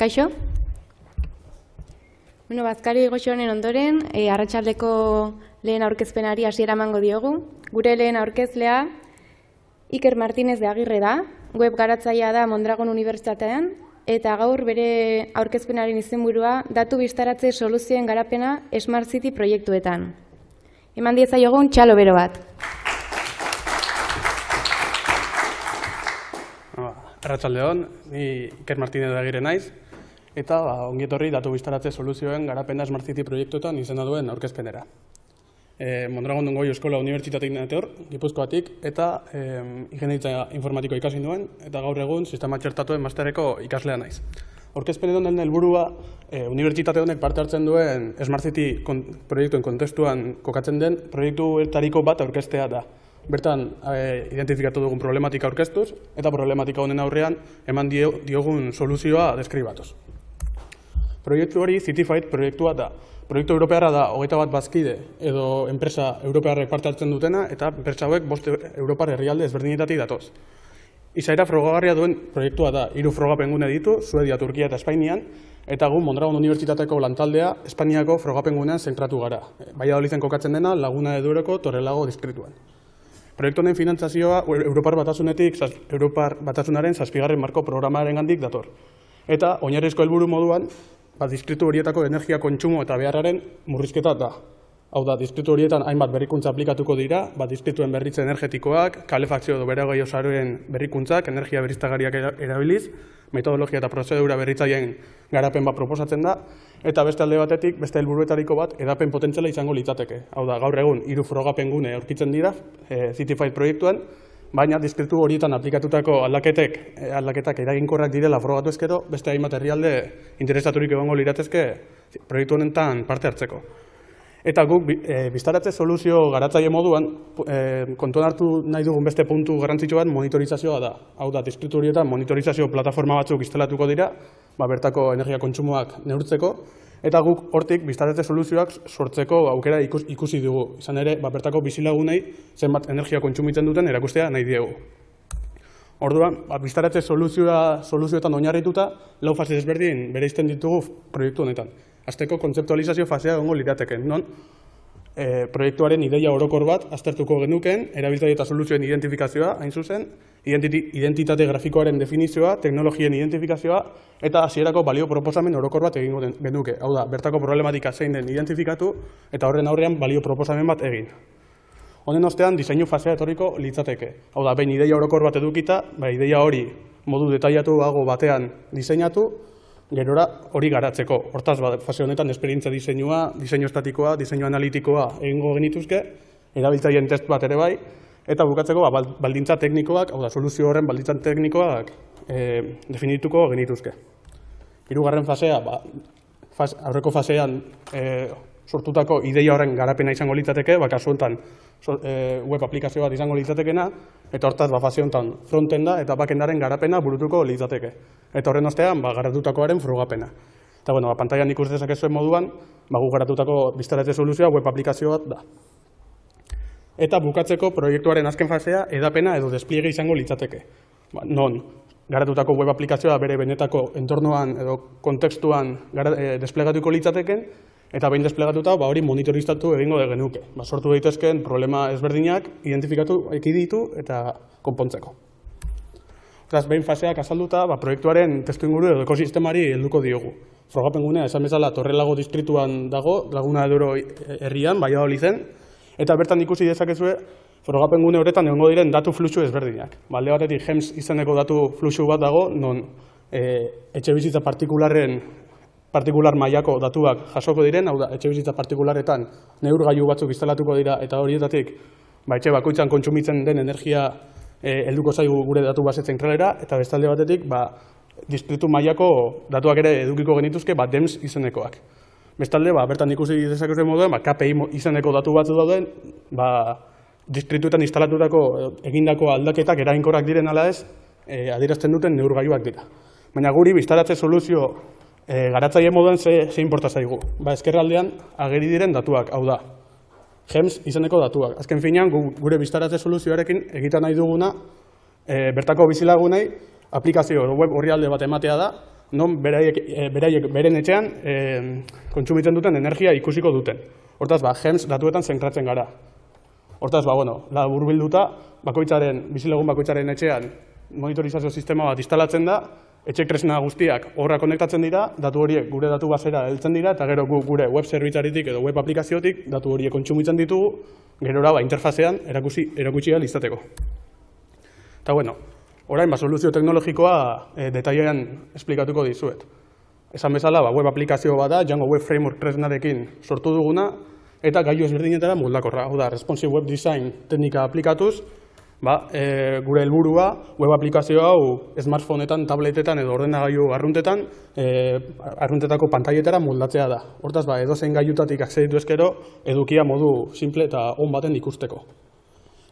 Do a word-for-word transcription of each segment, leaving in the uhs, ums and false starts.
Kaixo? Bueno, Bazkari goxo honen ondoren, e, arratsaldeko lehen aurkezpenari hasiera emango diogu. Gure lehen aurkezlea Iker Martinez de Agirre da, web garatzailea da Mondragon Unibertsitatean, eta gaur bere aurkezpenaren izenburua datu biztaratze soluzioen garapena Smart City proiektuetan. Eman diezaiogun txalo bero bat. Arratsaldeon, ni Iker Martinez de Agirre naiz, eta ongi etorri datu biztaratze soluzioen garapena Smart City proiektuetan izena duen aurkezpenera. Mondragon Goi Eskola Unibertsitatetik nator, Gipuzkoatik, eta ingeniaritza informatikoa ikasi nuen, eta gaur egun sistema txertatuen masterreko ikaslea naiz. Aurkezpen honen helburua unibertsitate honek parte hartzen duen Smart City proiektuen kontestuan kokatzen den proiektuetariko bat aurkeztea da. Bertan identifikatu dugun problematika aurkeztuz, eta problematika honen aurrean eman diogun soluzioa deskribatuz. Proiektu hori Cityfight proiektua da. Proiektu europearra da hogeita bat bazkide edo enpresa europearrek parte hartzen dutena, eta enpresa hauek bost europar herrialde ezberdinetatik datoz. Izaera frogagarria duen proiektua da, hiru frogapengune ditu, Suedia, Turkia eta Espainian, eta gu Mondragon Unibertsitateko lantaldea Espainiako frogapengunean zentratu gara. Valladoliden kokatzen dena Laguna de Duroko Torrelago distrituan. Proiektu honen finantzazioa Europar Batasunetik, Europar Batasunaren zazpigarren marko programaren gandik dator. Eta oinarrizko helburu moduan, distritu horietako energia kontsumo eta beharraren murrizketa da. Hau da, distritu horietan hainbat berrikuntza aplikatuko dira, distriktuen berritze energetikoak, kalefakzio edo beregaio saroen berrikuntzak, energia berriztagarriak erabiliz, metodologia eta prozedura berritzaileen garapen bat proposatzen da, eta beste alde batetik, beste helburuetariko bat, edapen potentziala izango litzateke. Hau da, gaur egun, hiru frogapengune aurkitzen dira, Cityfight proiektuan, baina distritu horietan aplikatutako aldaketek, aldaketak eraginkorrak direla frogatu ezkero, beste hainbat herrialde interesaturik egongo liratezke proiektu honetan parte hartzeko. Eta guk biztaratze soluzio garatzaile moduan kontuan hartu nahi dugun beste puntu garrantzitsu bat monitorizazioa da. Hau da, distritu horietan monitorizazio plataforma batzuk instalatuko dira, bertako energia kontsumoak neurtzeko, eta guk hortik biztaratze soluzioak sortzeko aukera ikusi dugu. Izan ere, bertako bizilagunei zenbat energia kontsumitzen duten erakustea nahi diegu. Orduan, biztaratze soluzioetan oinarrituta, lau fase desberdin bereizten ditugu proiektu honetan. Azteko kontzeptualizazio fasea egongo lirateken, non proiektuaren ideia orokor bat aztertuko genukeen, erabiltzaile eta soluzioen identifikazioa, hain zuzen, identitate grafikoaren definizioa, teknologien identifikazioa, eta hasierako balio proposamen orokor bat egingo genuke. Hau da, bertako problematika zein den identifikatu, eta horren aurrean balio proposamen bat egin. Honen ostean, diseinu fasea etorriko litzateke. Hau da, behin ideia orokor bat edukita, ideia hori modu detailatuago batean diseinatu, gerora hori garatzeko. Hortaz, fase honetan esperientzia diseinua, diseinu estatikoa, diseinu analitikoa egingo genituzke, erabiltzaileen test bat ere bai, eta bukatzeko baldintza teknikoak, hau da, soluzio horren baldintza teknikoak definituko genituzke. Hirugarren fasea, aurreko fasean sortutako ideia horren garapena izango litzateke, kasu honetan web aplikazio bat izango litzatekena, eta hortaz, fase honetan frontenda eta backendaren garapena burutuko litzateke. Eta horren ostean, garatutakoaren frogapena. Eta, bueno, pantailan ikus dezakezuen moduan, gu garatutako biztaratze soluzioa web aplikazio bat da. Eta bukatzeko proiektuaren azken fasea edapena edo despliege izango litzateke. Non, garatutako web aplikazioa bere benetako entornoan edo kontekstuan desplegatuko litzateken, eta behin desplegatuta hori monitorizatu egingo genuke. Sortu daitezkeen problema ezberdinak identifikatu, ekiditu eta konpontzeko. Beraz, behin faseak azalduta, proiektuaren testuinguru edo ekosistemari helduko diogu. Frogapengunea, esan bezala, Torrelago distrituan dago, Laguna de Duro herrian, Valladoliden, eta bertan ikusi dezakezue, frogapengune horretan egongo diren datu fluxu ezberdinak. Alde batetik, Hems izeneko datu fluxu bat dago, non etxe bizitza partikularren partikular mailako datuak jasoko diren, hau da, etxe bizitza partikularretan neurgailu batzuk instalatuko dira, eta horietatik, etxe bakoitzan kontsumitzen den energia helduko zaigu gure datu base zentralera, eta bestalde batetik, distritu mailako datuak ere edukiko genituzke, Dems izenekoak. Bestalde, bertan ikusi dezakezuen moduen, K P I izeneko datu batzu dauden, distrituetan instalatutako egindako aldaketak eraginkorrak diren ala ez, adierazten duten neurgailuak dira. Baina guri biztaratze soluzio garatzaile moduan ze inporta zaigu. Ezkerraldean ageri diren datuak, hau da. Hems izeneko datuak. Azken finean, gure biztaratze soluzioarekin egiten nahi duguna bertako bizilagunei aplikazio web orrialde bat ematea da, non beraiek, e, beraiek beren etxean e, kontsumitzen duten energia ikusiko duten. Hortaz, ba, GEMS datuetan zentratzen gara. Hortaz, ba, bueno, laburbilduta, bakoitzaren, bizilagun bakoitzaren etxean monitorizazio sistema bat instalatzen da, etxek tresna guztiak horra konektatzen dira, datu horiek gure datu basera heltzen dira, eta gero gu, gure web zerbitzaritik edo web aplikaziotik datu horiek kontsumitzen ditugu, gerora ba, interfazean erakutsi, erakutsi ahal izateko. Eta bueno, orain, ba, soluzio teknologikoa e, detailean esplikatuko dizuet. Esan bezala, ba, web aplikazio bat da, Django Web Framework tresnarekin sortu duguna, eta gailu ezberdinetara moldakorra. Hau da, responsive web design teknika aplikatuz, ba, e, gure helburua web aplikazio hau smartphoneetan, tabletetan edo ordenagailu arruntetan, e, arruntetako pantailetara moldatzea da. Hortaz, ba, edozein gailutatik akseditu ezkero, edukia modu simple eta on baten ikusteko.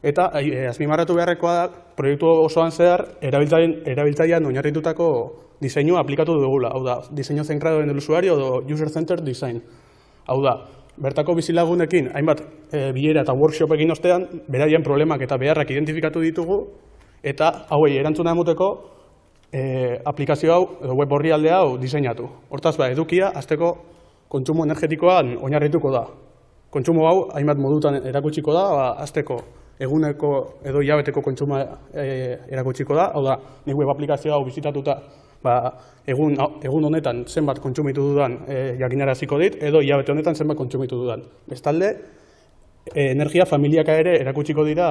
Eta e, azpimarratu beharrekoa da, proiektu osoan zehar, erabiltzailean oinarritutako diseinua aplikatu dugula. Hau da, diseño centrado en el usuario edo user-centered design. Hau da, bertako bizilagunekin, hainbat e, bilera eta workshop egin ostean, beraien problemak eta beharrak identifikatu ditugu, eta hauei erantzuna emoteko e, aplikazio hau, edo web orrialde hau diseinatu. Hortaz, ba, edukia, azteko kontsumo energetikoan oinarrituko da. Kontsumo hau, hainbat modutan erakutsiko da, ba, azteko eguneko edo hilabeteko kontsuma e, erakutsiko da, hau da, nik web aplikazio hau bizitatuta, ba, egun, egun honetan zenbat kontsumitu dudan e, jakinaraziko dit, edo hilabete honetan zenbat kontsumitu dudan. Bestalde, e, energia familiaka ere erakutsiko dira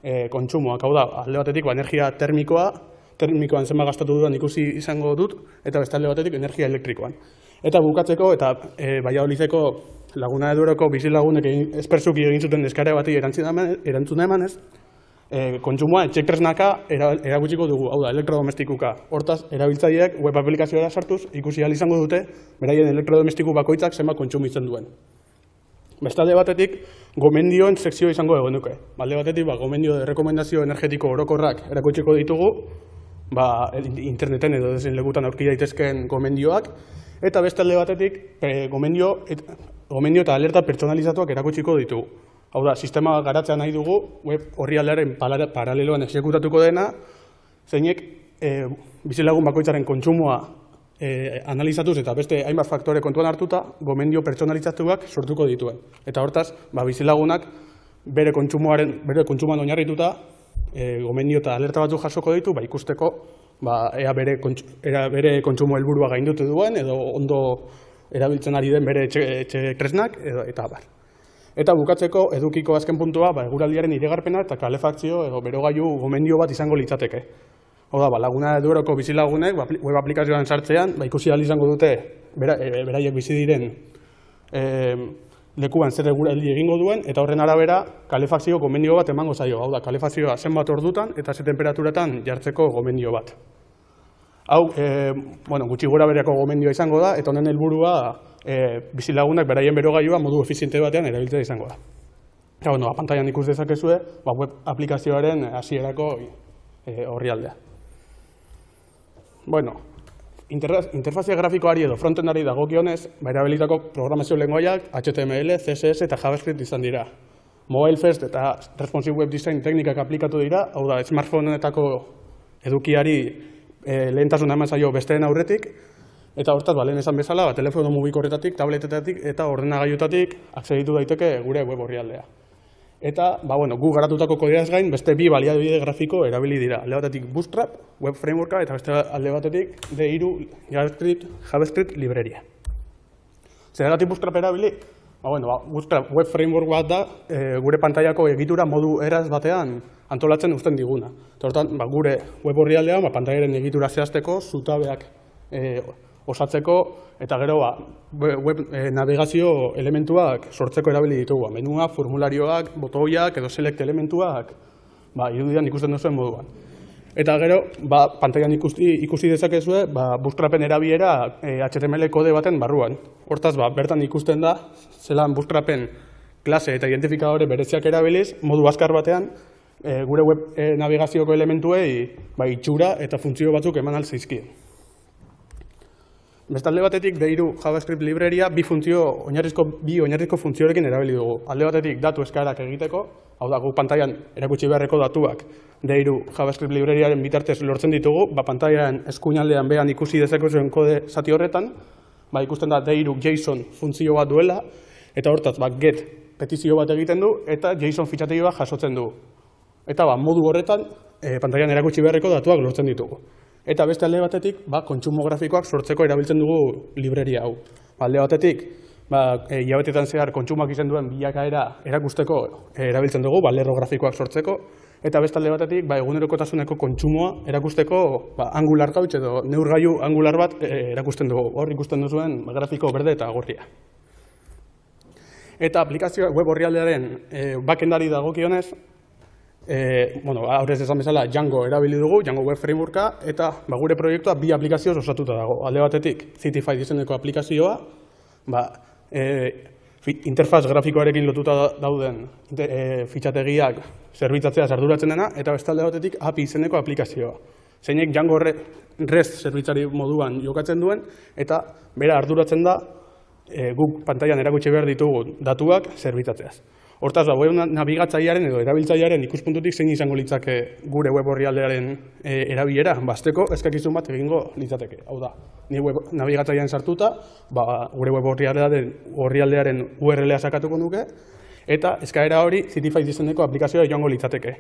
e, kontsumoak, hau da, alde batetik ba, energia termikoa, termikoan zenbat gastatu dudan ikusi izango dut, eta bestalde batetik energia elektrikoan. Eta bukatzeko, eta e, Valladolideko Laguna de Dueroko bizilagunek esperzuki egin zuten eskare bati erantzuna emanez, e, kontsumoa etxek tresnaka erakutsiko dugu, hau da, elektrodomestikuka. Hortaz, erabiltzaileak web aplikazioa sartuz, ikusi ahal izango dute, beraien elektrodomestiku bakoitzak zenbat kontsumitzen duen. Bestalde batetik, gomendioen sekzio izango egon duke. Balde batetik, ba, gomendio de rekomendazio energetiko orokorrak erakutsiko ditugu, ba, interneten edo dezen lekutan aurki daitezkeen gomendioak, eta bestalde batetik, e, gomendio, et, gomendio eta alerta pertsonalizatuak erakutsiko ditugu. Hau da, sistema garatzea nahi dugu, web orrialdearen paraleloan exekutatuko dena, zeinek e, bizilagun bakoitzaren kontsumoa e, analizatuz eta beste hainbat faktore kontuan hartuta, gomendio pertsonalizatuak sortuko dituen. Eta hortaz, ba, bizilagunak bere kontsumoaren, bere kontsumoan oinarrituta, e, gomendio eta alerta batzuk jasoko ditu, ba, ikusteko, ba, ea bere, kontsu, ea bere kontsumo helburua gaindutu duen, edo ondo erabiltzen ari den bere etxe, etxe tresnak, edo, eta abar. Eta bukatzeko, edukiko azken puntua, ba, eguraldiaren iragarpena eta kalefakzio edo berogailu gomendio bat izango litzateke. Hau da, ba, Laguna de Dueroko bizilagunek, web aplikazioan sartzean, ba, ikusi ahal izango dute, bera, e, beraiek bizi diren e, lekuan zer eguraldi egingo duen, eta horren arabera, kalefakzio gomendio bat emango zaio. Hau da, kalefakzioa zenbat ordutan eta ze temperaturatan jartzeko gomendio bat. Hau, e, bueno, gutxi gora bereko gomendioa izango da, eta honen helburua e, bizilagunak beraien berogailua modu efiziente batean erabiltzea izango da. Eta, bueno, pantailan ikus dezakezue, ba, web aplikazioaren hasierako e, orrialdea. Bueno, interfazia grafikoari edo frontendari dagokionez, ba, erabilitako programazio lengoaiak H T M L, C S S eta JavaScript izan dira. Mobile first eta responsive web design teknikak aplikatu dira, hau da, smartphonetako edukiari E, lehentasuna eman zaio besteen aurretik, eta hortaz, ba, lehen esan bezala, ba, telefono mugikorretatik, tabletetatik eta ordenagailutatik akseditu daiteke gure web orrialdea. Eta, ba, bueno, gu garatutako kodeaz gain, beste bi baliabide grafiko erabili dira. Alde batetik Bootstrap, web frameworka, eta beste alde batetik D hiru JavaScript, JavaScript libreria. Zergatik Bootstrap erabili? Ba, bueno, ba, Bootstrap web framework bat da, e, gure pantailako egitura modu eraz batean antolatzen uzten diguna. Eta hortan, ba, gure web orrialdean, ba, pantailaren egitura zehazteko, zutabeak e, osatzeko, eta gero ba, web e, navegazio elementuak sortzeko erabili ditugu. Menua, formularioak, botoiak edo select elementuak ba, irudian ikusten duzuen moduan. Eta gero, ba, pantailan ikusi, ikusi dezakezue, ba, Bootstrapen erabiera e, H T M L kode baten barruan. Hortaz, ba, bertan ikusten da, zelan Bootstrapen klase eta identifikadore bereziak erabiliz, modu azkar batean, e, gure web e, navigazioko elementuei ba, itxura eta funtzio batzuk eman alzaizkie. Bestalde batetik, D hiru JavaScript libreria bi funtzio, oinarrizko, bi oinarrizko funtziorekin erabili dugu. Alde batetik, datu eskaerak egiteko, Hau da, gu pantailan erakutsi beharreko datuak D hiru JavaScript libreriaren bitartez lortzen ditugu, ba, pantailan eskuinaldean behan ikusi dezakezuen kode zati horretan, ba, ikusten da D hiru JSON funtzio bat duela, eta hortaz, ba, get petizio bat egiten du, eta JSON fitxategi bat jasotzen du. Eta ba, modu horretan, e, pantailan erakutsi beharreko datuak lortzen ditugu. Eta beste alde batetik, ba, kontsumo grafikoak sortzeko erabiltzen dugu libreria hau. Ba, alde batetik, ba, e, hilabetetan zehar kontsumoak izan duen bilakaera erakusteko e, erabiltzen dugu, ba, lerro grafikoak sortzeko. Eta beste alde batetik, ba, egunerokotasuneko kontsumoa erakusteko ba, angular gauch edo neurgailu angular bat e, erakusten dugu. Hor ikusten duzuen ba, grafiko berde eta gorria. Eta aplikazio web orrialdearen e, backendari dagokionez, e, bueno, aurrez esan bezala Django erabili dugu, Django Web Frameworka, eta ba, gure proiektua bi aplikazioz osatuta dago. Alde batetik, Citify izeneko aplikazioa, ba, e, interfaz grafikoarekin lotuta dauden e, fitxategiak zerbitzatzea arduratzen dena, eta beste alde batetik A P I izeneko aplikazioa. Zeinek Django REST zerbitzari moduan jokatzen duen, eta bera arduratzen da e, guk pantailan erakutsi behar ditugu datuak zerbitzatzea. Hortaz, web nabigatzailearen edo erabiltzailearen ikuspuntutik zein izango litzake gure web orrialdearen e, erabilera, basteko eskakizun bat egingo litzateke. Hau da, ni web nabigatzailean sartuta, ba, gure web orrialdearen, orrialdearen U R L-a sakatuko nuke, eta eskaera hori Citify izeneko aplikazioa joango litzateke.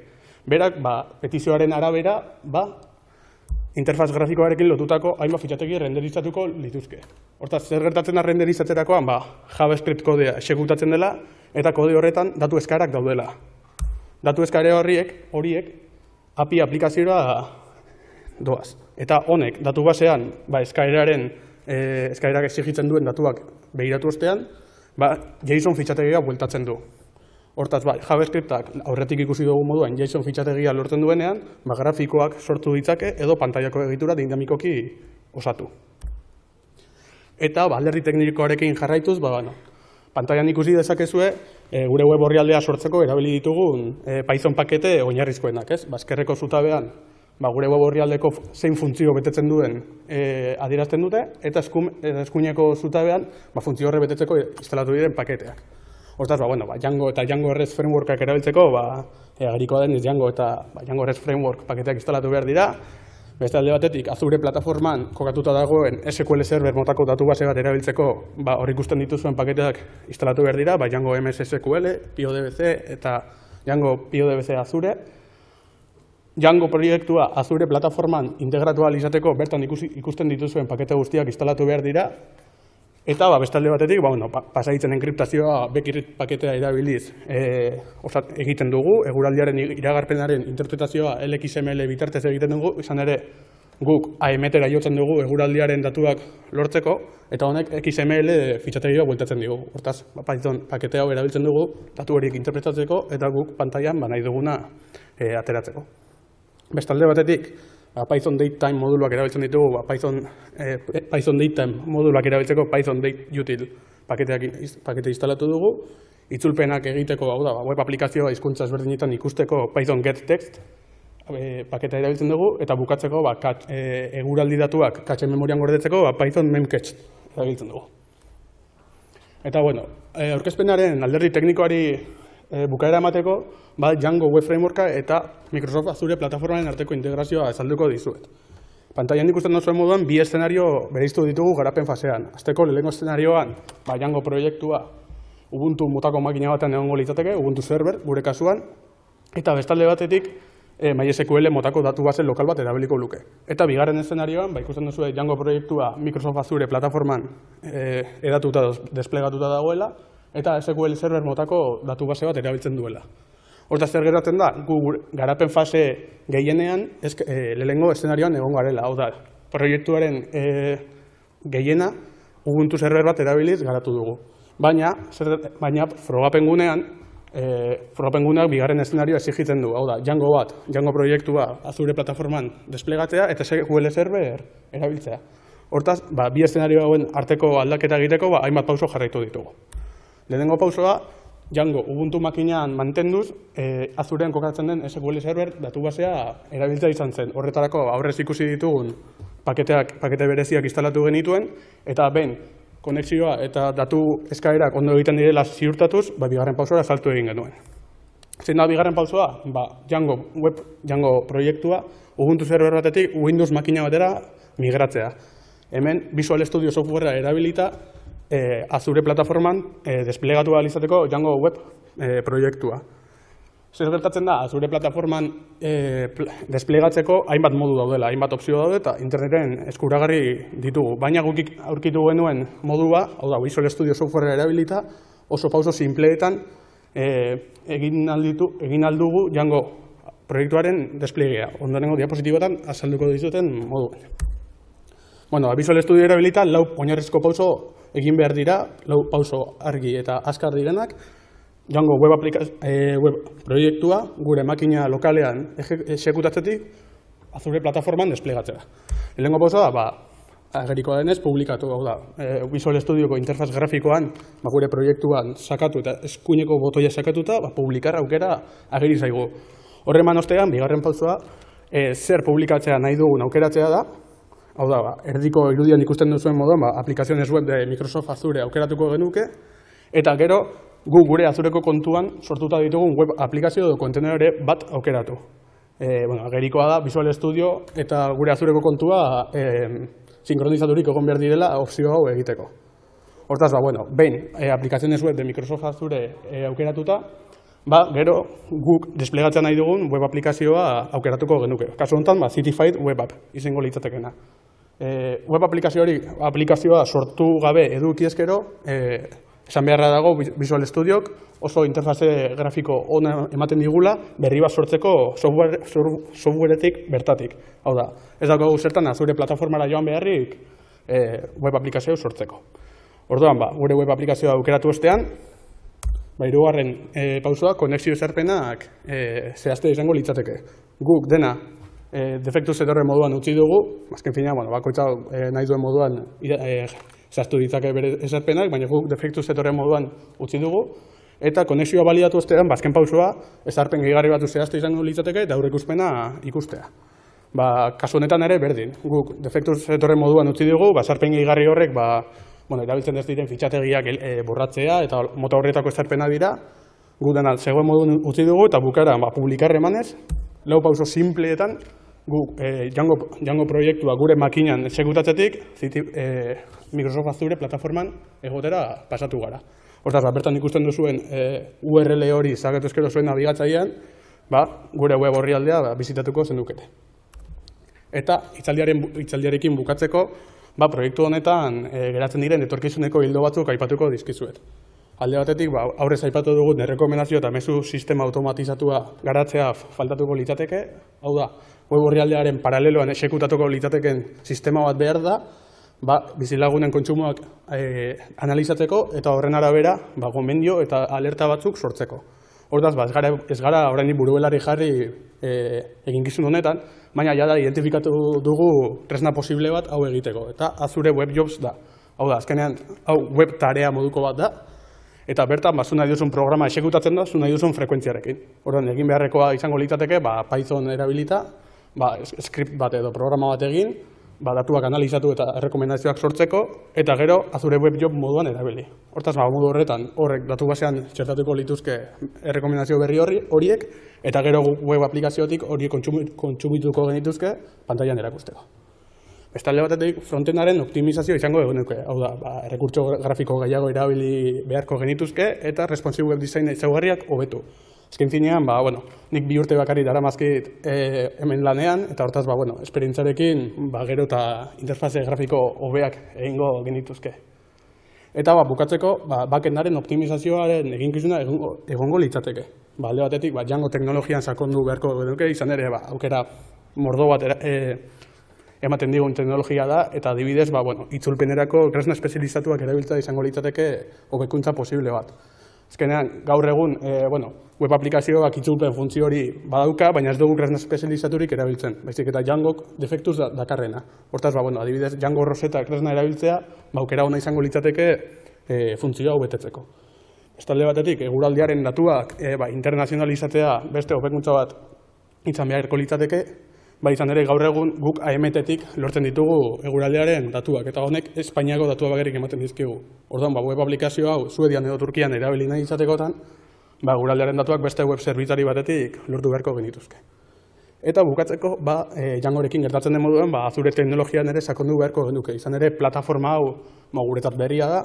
Berak, ba, petizioaren arabera, ba, interfaz grafikoarekin lotutako hainbat fitxategi renderizatuko lituzke. Hortaz, zer gertatzen da renderizatzerakoan, ba, JavaScript kodea exekutatzen dela, eta kode horretan datu eskaerak daudela. Datu eskaera horiek, horiek A P I aplikazioa doaz. Eta honek, datu basean, ba, eskaeraren, e, eskaerak exigitzen duen datuak behiratu ostean, ba, JSON fitxategia bueltatzen du. Hortaz, ba, JavaScriptak aurretik ikusi dugu moduan JSON fitxategia lortzen duenean, ba, grafikoak sortu ditzake edo pantailako egitura dinamikoki osatu. Eta, ba, alderdi teknikoarekin jarraituz, ba, bueno, pantailan ikusi dezakezue, e, gure web orrialdea sortzeko erabili ditugun e, Python pakete oinarrizkoenak, ez? Ba, eskerreko zutabean, ba, gure web orrialdeko zein funtzio betetzen duen e, adierazten dute, eta eskuineko zutabean, ba, funtzio horre betetzeko instalatu diren paketeak. Hortaz, ba, bueno, ba, Django eta Django REST Frameworkak erabiltzeko, ba, agerikoa deniz Django eta ba, Django REST Framework paketeak instalatu behar dira. Beste alde batetik, Azure plataforman kokatuta dagoen S Q L Server motako datu base bat erabiltzeko, ba, hor ikusten dituzuen paketeak instalatu behar dira, ba, Django M S S Q L, PyODBC eta Django PyODBC Azure. Django proiektua Azure plataforman integratu ahal izateko bertan ikusi, ikusten dituzuen pakete guztiak instalatu behar dira. Eta ba, beste alde batetik, ba, bueno, pasaditzen enkriptazioa Bekirrit paketea erabiliz e, osat, egiten dugu, eguraldiaren iragarpenaren interpretazioa L X M L bitartez egiten dugu, izan ere guk A M T-era jotzen dugu eguraldiaren datuak lortzeko, eta honek X M L fitxategia bueltatzen dugu. Hortaz, ba, Python paketea hau erabiltzen dugu datu horiek interpretatzeko eta guk pantailan ba, nahi duguna e, ateratzeko. Beste alde batetik, Python datetime moduluak erabiltzen ditugu, ba, Python, eh, Python datetime moduluak erabiltzeko Python dateutil paketeak pakete instalatu dugu. Itzulpenak egiteko, hau da, web aplikazioa hizkuntza ezberdinetan ikusteko Python getText eh, paketa erabiltzen dugu, eta bukatzeko ba, kat, eh, eguraldi datuak cache memorian gordetzeko ba, Python memcache erabiltzen dugu. Eta, bueno, eh, aurkezpenaren alderdi teknikoari E, bukaera emateko, ba, Django Web Frameworka eta Microsoft Azure plataformaren arteko integrazioa azalduko dizuet. Pantailan ikusten duzuen moduan, bi eszenario bereiztu ditugu garapen fasean. Azteko lehenengo eszenarioan, ba, Django proiektua Ubuntu motako makina batean egongo litzateke, Ubuntu Server, gure kasuan, eta bestalde batetik, e, MySQL motako datu base lokal bat erabiliko luke. Eta bigarren eszenarioan, ba, ikusten duzue Django proiektua Microsoft Azure plataforman e, edatuta, desplegatuta dagoela, eta S Q L Server motako datu base bat erabiltzen duela. Hortaz, zer geratzen da, gu garapen fase gehienean, e, lehenengo eszenarioan egon garela. Hau da, proiektuaren e, gehiena Ubuntu Server bat erabiliz garatu dugu. Baina, zer, baina frogapen gunean, e, frogapen guneak bigarren eszenarioa exigitzen du. Hau da, Django bat, Django proiektua Azure plataforman desplegatzea eta S Q L Server erabiltzea. Hortaz, ba, bi eszenario hauen arteko aldaketa egiteko, ba, hainbat pauso jarraitu ditugu. Lehenengo pausoa, Django Ubuntu makinean mantenduz, e, Azurean kokatzen den S Q L Server datu basea erabiltza izan zen. Horretarako aurrez ikusi ditugun paketeak, pakete bereziak instalatu genituen, eta ben, konexioa eta datu eskaerak ondo egiten direla ziurtatuz, ba, bigarren pausora saltu egin genuen. Zein da bigarren pausoa? Ba, Django web Django proiektua Ubuntu server batetik Windows makina batera migratzea. Hemen Visual Studio softwarea erabilita eh, Azure plataforman eh, desplegatu ahal izateko Django web eh, proiektua. Zer gertatzen da, Azure plataforman eh, desplegatzeko hainbat modu daudela, hainbat opzio daude eta interneten eskuragarri ditugu. Baina guk aurkitu genuen modua, hau da, Visual Studio softwarea erabilita, oso pauso simpleetan eh, egin alditu, egin aldugu Django proiektuaren desplegea. Ondorengo diapositibotan azalduko dizuten moduan. Bueno, Visual Studio erabilita lau oinarrizko pauso egin behar dira, lau pauso argi eta azkar direnak, Django web, e, web proiektua gure makina lokalean exekutatzetik Azure plataforman desplegatzea. Lehenengo pausoa da, ba, agerikoa denez, publikatu, hau da, e, Visual Studioko interfaz grafikoan ba, gure proiektuan sakatu eta eskuineko botoia sakatuta, ba, publikar aukera ageri zaigu. Horreman ostean, bigarren pausoa, e, zer publikatzea nahi dugun aukeratzea da, hau da, ba, erdiko irudian ikusten duzuen moduan, ba, aplikaziones web de Microsoft Azure aukeratuko genuke, eta gero, gu gure Azureko kontuan sortuta ditugun web aplikazio edo kontenedore bat aukeratu. E, bueno, agerikoa da, Visual Studio eta gure Azureko kontua e, sinkronizaturik egon behar direla opzio hau egiteko. Hortaz, ba, bueno, behin e, aplikaziones web de Microsoft Azure e, aukeratuta, ba, gero guk desplegatzen nahi dugun web aplikazioa aukeratuko genuke. Kasu honetan, ba, Cityfied Web App izango litzatekena. E, web aplikazio hori, aplikazioa sortu gabe eduki ezkero, e, esan beharra dago Visual Studiok oso interfaze grafiko ona ematen digula berri bat sortzeko software, softwareetik bertatik. Hau da, ez daukagu zertan Azure plataformara joan beharrik e, web aplikazio sortzeko. Orduan, ba, gure web aplikazioa aukeratu ostean, ba, hirugarren e, pausoa, konexio ezarpenak e, zehazte izango litzateke. Guk dena e, defektu zetorren moduan utzi dugu, azken fina, bueno, bakoitza e, nahi duen moduan e, zehaztu ditzake bere ezarpenak, baina guk defektu zetorren moduan utzi dugu, eta konexioa baliatu ostean, azken pausoa, ezarpen gehigarri batu zehaztu izango litzateke eta aurreikuspena ikustea. Ba, kasu honetan ere berdin, guk defektu zetorren moduan utzi dugu, ba, ezarpen gehigarri horrek, ba, bueno, erabiltzen ez diren fitxategiak e, borratzea eta mota horretako ezarpena dira, guk dena zegoen moduan utzi dugu eta bukara ba, publikar emanez, lau pauso simpleetan, guk eh, Django, Django proiektua gure makinan exekutatzetik eh, Microsoft Azure plataforman egotera pasatu gara. Hortaz, ba, bertan ikusten duzuen eh, U R L hori zakatu eskero zuen nabigatzailean, ba, gure web orrialdea ba, bizitatuko zenukete. Eta hitzaldiaren, hitzaldiarekin bukatzeko, ba, proiektu honetan eh, geratzen diren etorkizuneko hildo batzuk aipatuko dizkizuet. Alde batetik, ba, aurrez aipatu dugun errekomendazio eta mezu sistema automatizatua garatzea faltatuko litzateke, hau da, web orrialdearen paraleloan exekutatuko litzateken sistema bat behar da, ba, bizilagunen kontsumoak e, analizatzeko eta horren arabera ba, gomendio eta alerta batzuk sortzeko. Hortaz, ba, ez gara, ez gara oraindik buruelari jarri e, eginkizun honetan, baina jada identifikatu dugu tresna posible bat hau egiteko, eta Azure Web Jobs da. Hau da, azkenean, hau web tarea moduko bat da, eta bertan, ba, zu nahi duzun programa exekutatzen da, zu nahi duzun frekuentziarekin. Horren, egin beharrekoa izango litzateke, ba, Python erabilita, ba, script bat edo programa bat egin, ba, datuak analizatu eta errekomendazioak sortzeko, eta gero Azure Web Job moduan erabili. Hortaz, ba, modu horretan, horrek datu basean txertatuko lituzke errekomendazio berri horri, horiek, eta gero web aplikaziotik horiek kontsumituko genituzke pantailan erakusteko. Bestalde batetik, frontendaren optimizazio izango egunuke. Hau da, ba, errekurtso grafiko gehiago erabili beharko genituzke, eta responsive web design ezaugarriak hobetu. Azken finean, ba, bueno, nik bi urte bakarrik daramazkit e, hemen lanean, eta hortaz, ba, bueno, esperientzarekin ba, gero eta interfaze grafiko hobeak egingo genituzke. Eta ba, bukatzeko, ba, backendaren optimizazioaren eginkizuna egongo, egongo litzateke. Ba, alde batetik, ba, Django teknologian sakondu beharko genuke, izan ere, ba, aukera mordo bat era, e, ematen digun teknologia da, eta adibidez, ba, bueno, itzulpenerako tresna espezializatuak erabiltza izango litzateke hobekuntza posible bat. Azkenean, gaur egun, e, bueno, web aplikazioak itzulpen funtzio hori badauka, baina ez dugu tresna espezializaturik erabiltzen. Baizik eta Djangok defektuz da, dakarrena. Hortaz, ba, bueno, adibidez, Django Rosetta tresna erabiltzea, ba, aukera ona izango litzateke e, funtzioa hau betetzeko. Bestalde batetik, eguraldiaren datuak e, ba, internazionalizatzea beste hobekuntza bat izan beharko litzateke, ba, izan ere gaur egun guk A M T-tik lortzen ditugu eguraldiaren datuak, eta honek Espainiako datua bakarrik ematen dizkigu. Orduan, ba, web aplikazio hau Suedian edo Turkian erabili nahi izatekotan, ba, guraldearen datuak beste web zerbitzari batetik lortu beharko genituzke. Eta bukatzeko, ba, e, Djangorekin gertatzen den moduan, ba, Azure teknologian ere sakondu beharko genuke. Izan ere, plataforma hau ba, guretzat berria da,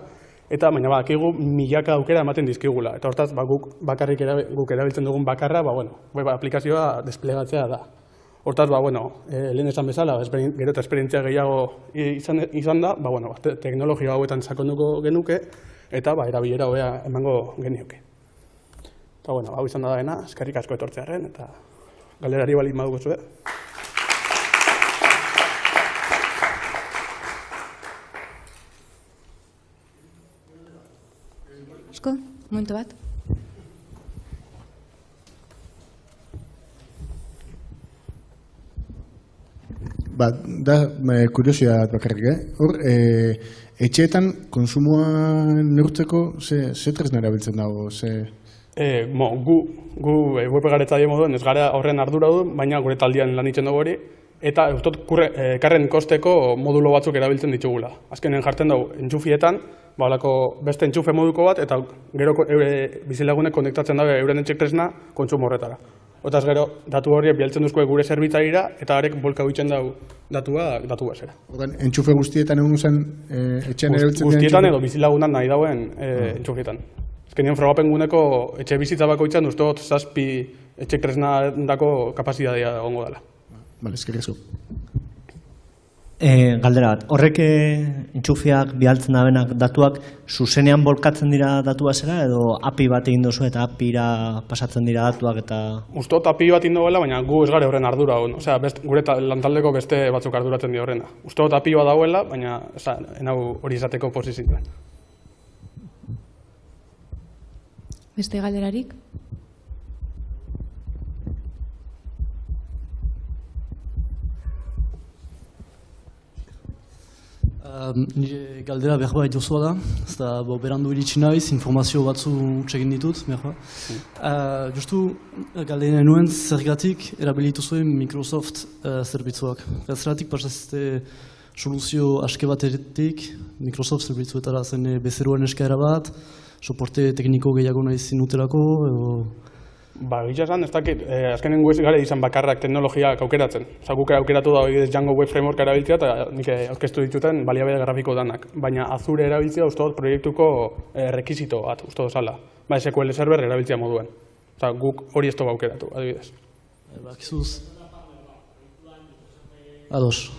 eta baina badakigu milaka aukera ematen dizkigula. Eta hortaz, ba, guk bakarrik erabil, guk erabiltzen dugun bakarra, ba, bueno, web aplikazioa desplegatzea da. Hortaz, ba, bueno, e, lehen esan bezala, gero eta esperientzia gehiago izan, izan da, ba, bueno, ba, teknologia hauetan sakonduko genuke, eta ba, erabilera hobea emango genioke. Eta, bueno, hau izan da dena, eskerrik asko etortzearen, eta galerari bali madugu zuen. Esko, momentu bat. Ba, da, kuriosia bakarrik, eh? Hor, e, etxeetan konsumoa neurtzeko ze, ze tresna erabiltzen dago, ze... E, mo, gu, gu e, web garetzaile moduen ez gara horren ardura du, baina gure taldean lan ditzen dugu hori, eta ustot e, karren kosteko modulo batzuk erabiltzen ditugula. Azkenen jartzen dugu entxufietan, ba, olako beste entxufe moduko bat, eta gero eure bizilagunek konektatzen dabe euren etxek tresna kontsumo horretara. Otaz gero, datu horiek bialtzen duzko gure zerbitzarira, eta horrek bolka huitzen dugu datua, datu bezera. Ogan, entxufe guztietan egun zen e, etxean erabiltzen den? Guztietan edo bizilagunan nahi dauen e, ah. entxufietan. Ezkenien frogapen guneko etxe bizitza bakoitzan uste dut zazpi etxek tresna dako kapazitatea egongo dela. Bale, eskerrik E, galdera bat, horrek entxufiak bialtzen dabenak datuak zuzenean bolkatzen dira datua zera edo A P I bat egin duzu eta A P I-ra pasatzen dira datuak eta... Uste dut A P I bat indoela, baina gu ez gare horren ardura. Osea, best, gure lantaldeko beste batzuk arduratzen di horrena. Uste dut A P I bat dauela, baina enau hori izateko posizioan. Beste galderarik? Nire galdera behar bat jozua da, ez da berandu iritsi naiz, informazio batzu txegin ditut, behar bat. Justu, galdera nuen zergatik erabilitu zuen Microsoft zerbitzuak. Zergatik pasazte soluzio aske batetik, Microsoft zerbitzuetara zen bezeroen eskaera bat, soporte tekniko gehiago nahi zinutelako, edo... Ba, gitza esan, ez dakit, eh, azkenen guez gara izan bakarrak teknologiak aukeratzen. Osa, guk aukeratu da hori Django Web Framework erabiltzea eta nik aurkeztu dituten baliabide grafiko danak. Baina Azure erabiltzea uste dut proiektuko eh, rekizito bat, uste dut zala. Ba, S Q L server erabiltzea moduen. Osa, guk hori ez dugu aukeratu, adibidez. Bakizuz. Ados.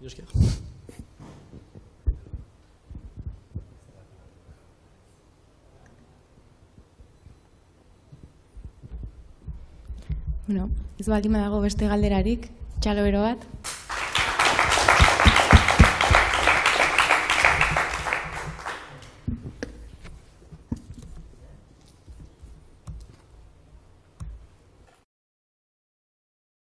Joskiak. Bueno, ez baldin badago beste galderarik, txalo bero bat.